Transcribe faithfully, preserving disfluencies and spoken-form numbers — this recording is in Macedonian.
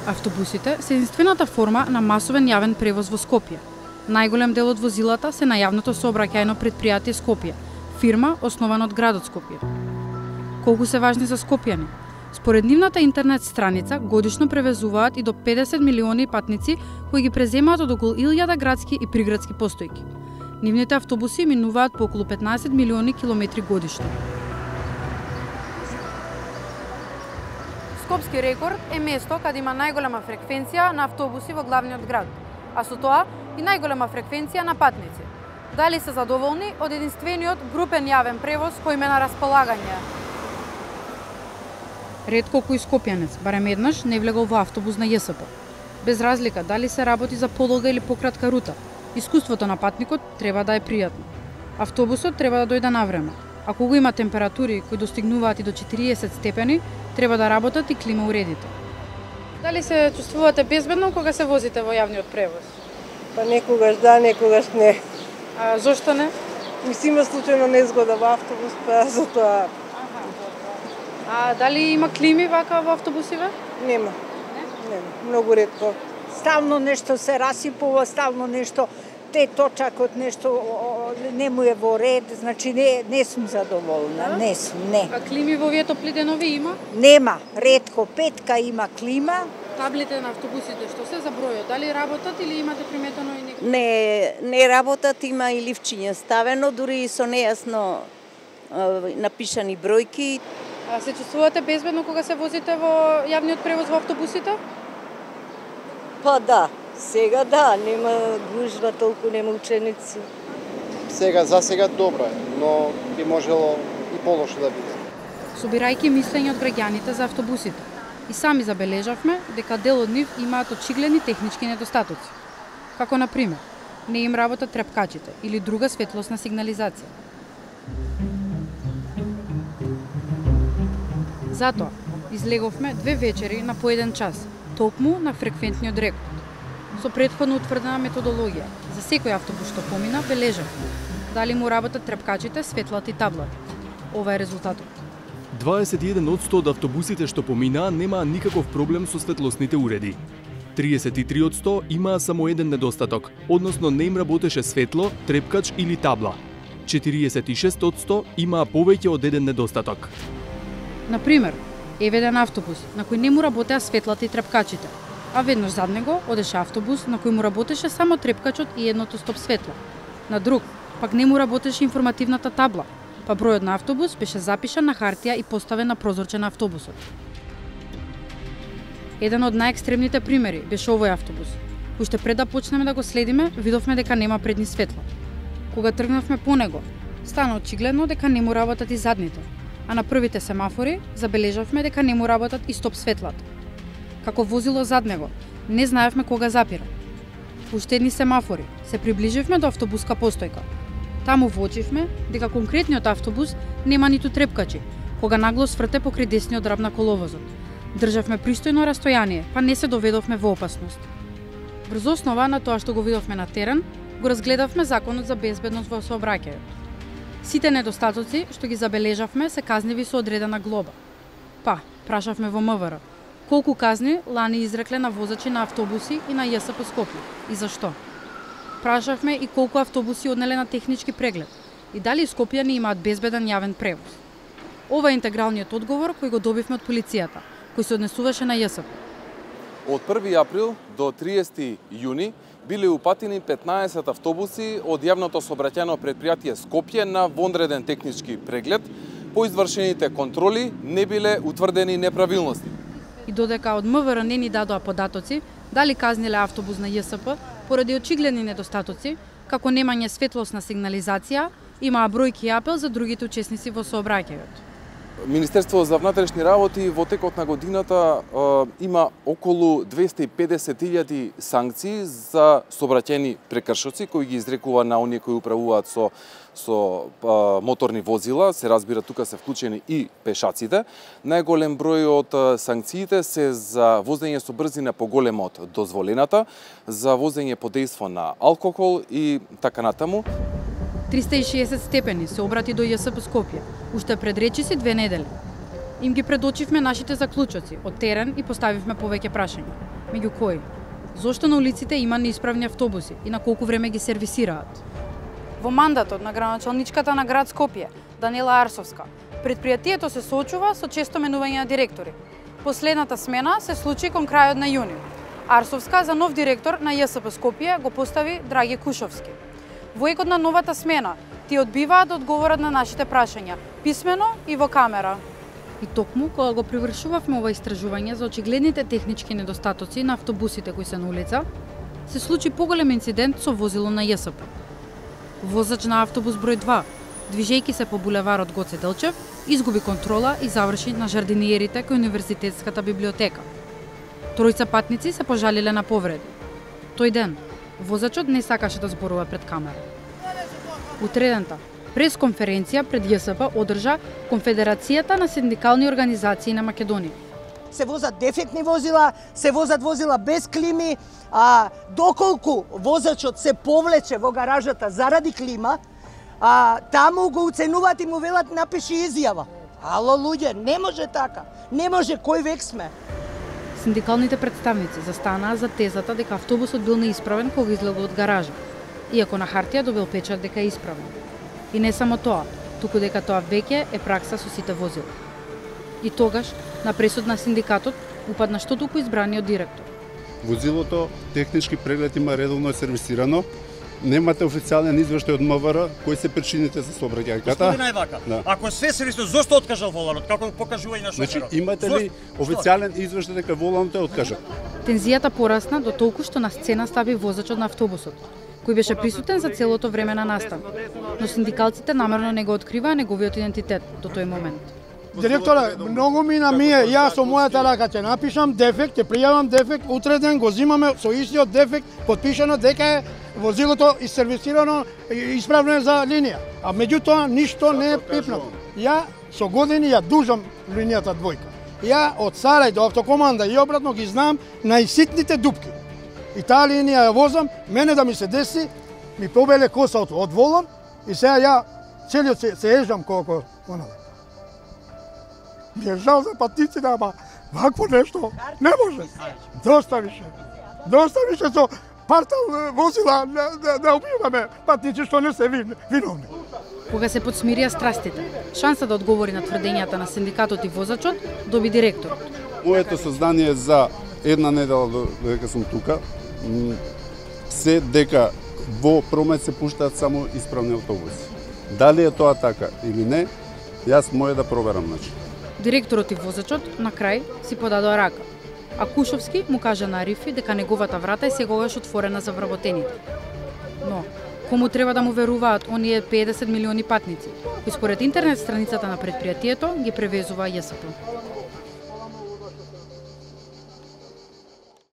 Автобусите се единствената форма на масовен јавен превоз во Скопје. Најголем дел од возилата се на јавното сообраќајно предпријатие Скопје, фирма основана од градот Скопје. Колку се важни за скопјани? Според нивната интернет страница, годишно превезуваат и до педесет милиони патници кои ги преземаат од околу илјада градски и приградски постојки. Нивните автобуси минуваат по околу петнаесет милиони километри годишно. Скопски рекорд е место каде има најголема фреквенција на автобуси во главниот град, а со тоа и најголема фреквенција на патници. Дали се задоволни од единствениот групен јавен превоз кој им е на располагање? Ретко кој скопјанец, барем еднаш, не влегол во автобус на Ја С П. Без разлика дали се работи за подолга или пократка рута, искуството на патникот треба да е пријатно. Автобусот треба да дојде на време. Ако го има температури кои достигнуваат и до четириесет степени, треба да работат и клима уредите. Дали се чувствувате безбедно кога се возите во јавниот превоз? Па некогаш да, некогаш не. А зошто не? Мислим, има случајно незгода во автобус, па затоа. А дали има клими вака во автобусиве? Нема. Не? Нема, многу ретко. Ставно нешто се расипува, ставно нешто те точакот нешто не му е во ред, значи не не сум задоволна, да? не сум, не. А клими во овие топли денови има? Нема, ретко петка има клима. Таблите на автобусите што се за бројот, дали работат или имате приметено и некој? Не, не работат, има и ливчиња ставено, дури и со нејасно е, напишани бројки. А се чувствувате безбедно кога се возите во јавниот превоз во автобусите? Па да, сега да, нема гужва толку, нема ученици. Сега, за сега добро е, но би можело и полошо да биде. Собирајќи мислење од граѓаните за автобусите, и сами забележавме дека дел од нив имаат очигледни технички недостатоци. Како на пример, не им работат трепкачите или друга светлосна сигнализација. Затоа, излеговме две вечери на по еден час, токму на фреквентниот рекорд. Со претходно утврдена методологија, за секој автобус што помина, бележавме дали му работат трепкачите, светлата и таблата. Ова е резултатот. дваесет и еден одсто од автобусите што поминаа немаа никаков проблем со светлосните уреди. триесет и три одсто имаа само еден недостаток, односно не им работеше светло, трепкач или табла. четириесет и шест одсто имаа повеќе од еден недостаток. Например, еве еден автобус на кој не му работеа светлата и трепкачите, а веднаш зад него одеше автобус на кој му работеше само трепкачот и едното стоп светло. На друг, пак не му работеше информативната табла, па бројот на автобус беше запишан на хартија и поставен на прозорче на автобусот. Еден од најекстремните примери беше овој автобус. Уште пред да почнеме да го следиме, видовме дека нема предни светла. Кога тргнавме по него, стана очигледно дека не му работат и задните, а на првите семафори забележавме дека не му работат и стоп светлата. Како возило зад него, не знаевме кога запира. Уште едни семафори, се приближивме до автобуска постојка. Таму воочивме дека конкретниот автобус нема ниту трепкачи, кога нагло сврте покрај десниот раб на коловозот. Државме пристојно растојание, па не се доведовме во опасност. Врз основа на тоа што го видовме на терен, го разгледавме законот за безбедност во сообраќајот. Сите недостатоци што ги забележавме се казниви со одредена глоба. Па, прашавме во М В Р, колку казни лани изрекле на возачи на автобуси и на Ја С П Скопје и зашто? Прашавме и колку автобуси однеле на технички преглед и дали скопјани имаат безбеден јавен превоз. Ова е интегралниот одговор кој го добивме од полицијата, кој се однесуваше на Ја С П. Од први април до триесети јуни биле упатени петнаесет автобуси од јавното сообраќајно предпријатие Скопје на вонреден технички преглед. По извршените контроли не биле утврдени неправилности. И додека од М В Р не ни дадоа податоци дали казниле автобус на Ја С П поради очигледни недостатоци, како немање светлосна сигнализација, имаа бројки и апел за другите учесници во сообраќајот. Министерството за внатрешни работи во текот на годината е, има околу двесте и педесет илјади санкции за сообраќајни прекршоци кои ги изрекува на оние кои управуваат со со а, моторни возила, се разбира тука се вклучени и пешаците. Најголем број од санкциите се за возење со брзина поголема од дозволената, за возење под дејство на алкохол и така натаму. триста и шеесет степени се обрати до Ја С П Скопје, уште пред речиси две недели. Им ги предочивме нашите заклучоци од терен и поставивме повеќе прашања. Меѓу кои? Зошто на улиците има неисправни автобуси и на колку време ги сервисираат? Во мандатот на градоначалничката на град Скопје, Даниела Арсовска, предпријатието се соочува со често менување на директори. Последната смена се случи кон крајот на јуни. Арсовска за нов директор на Ја С П Скопје го постави Драги Кушовски. Во екот на новата смена, ти одбиваат да одговорат на нашите прашања, писмено и во камера. И токму, кога го привршувавме ова истражување за очигледните технички недостатоци на автобусите кои се на улица, се случи поголем инцидент со возило на Ја С П. Возач на автобус број два, движејќи се по булеварот Гоце Делчев, изгуби контрола и заврши на жардиниерите кај Универзитетската библиотека. Тројца патници се пожалиле на повреди. Тој ден, возачот не сакаше да зборува пред камера. Утредента, пресконференција пред Ја С П одржа Конфедерацијата на синдикални организации на Македонија. Се возат дефектни возила, се возат возила без клими, а доколку возачот се повлече во гаражата заради клима, а таму го уценуваат и му велат напиши изјава. Ало луѓе, не може така. Не може, кој век сме? Синдикалните представници застанаа за тезата дека автобусот бил неисправен кога излегол од гаража, иако на хартија добил печат дека е исправен. И не само тоа, туку дека тоа веќе е пракса со сите возила. И тогаш, на пресуд на синдикатот, упадна што туку избраниот директор. Возилото технички преглед има редовно сервисирано. Немате официјален извештај од М В Р кои се причините за сообраќајката. Господин Ајвака, да. Ако све сервисно, зошто откажал воланот? Како покажува и на шоферот? Значи, имате ли официјален извештај дека воланот е откажан? Тензијата порасна до толку што на сцена стави возачот на автобусот, кој беше присутен за целото време на настан. Но синдикалците намерно не го откриваа неговиот идентитет до тој момент. Директоре, многу мина ми е, јас со мојата рака ќе напишам дефект, ќе пријавам дефект, утре ден го зимаме со истиот дефект, потпишано дека е возилото и сервисирано и исправно за линија. А меѓутоа ништо не е пипнато. Ја со години ја дужам линијата двојка. Ја од Сарај до автокоманда и обратно ги знам најситните дупки. И таа линија ја возам, мене да ми се деси, ми побеле косаото од волан и сега ја целиот се, се ежам колко онаде. Ми е жал за патниците, ама вакво нешто не може. Доста више. Доста више со партал возила да, да, да убиваме патници што не се вин, виновни. Кога се подсмирија страстите, шанса да одговори на тврдењата на синдикатот и возачот доби директорот. Моето сознание за една недела додека сум тука се дека во промет се пуштаат само исправни автобуси. Дали е тоа така или не, јас може да проверам значи. Директорот и возачот на крај си подадоа рака, а Кушовски му кажа на Арифи дека неговата врата е секогаш отворена за вработените. Но, кому треба да му веруваат оние педесет милиони патници, кои според интернет страницата на предпријатието ги превезува Ја С П?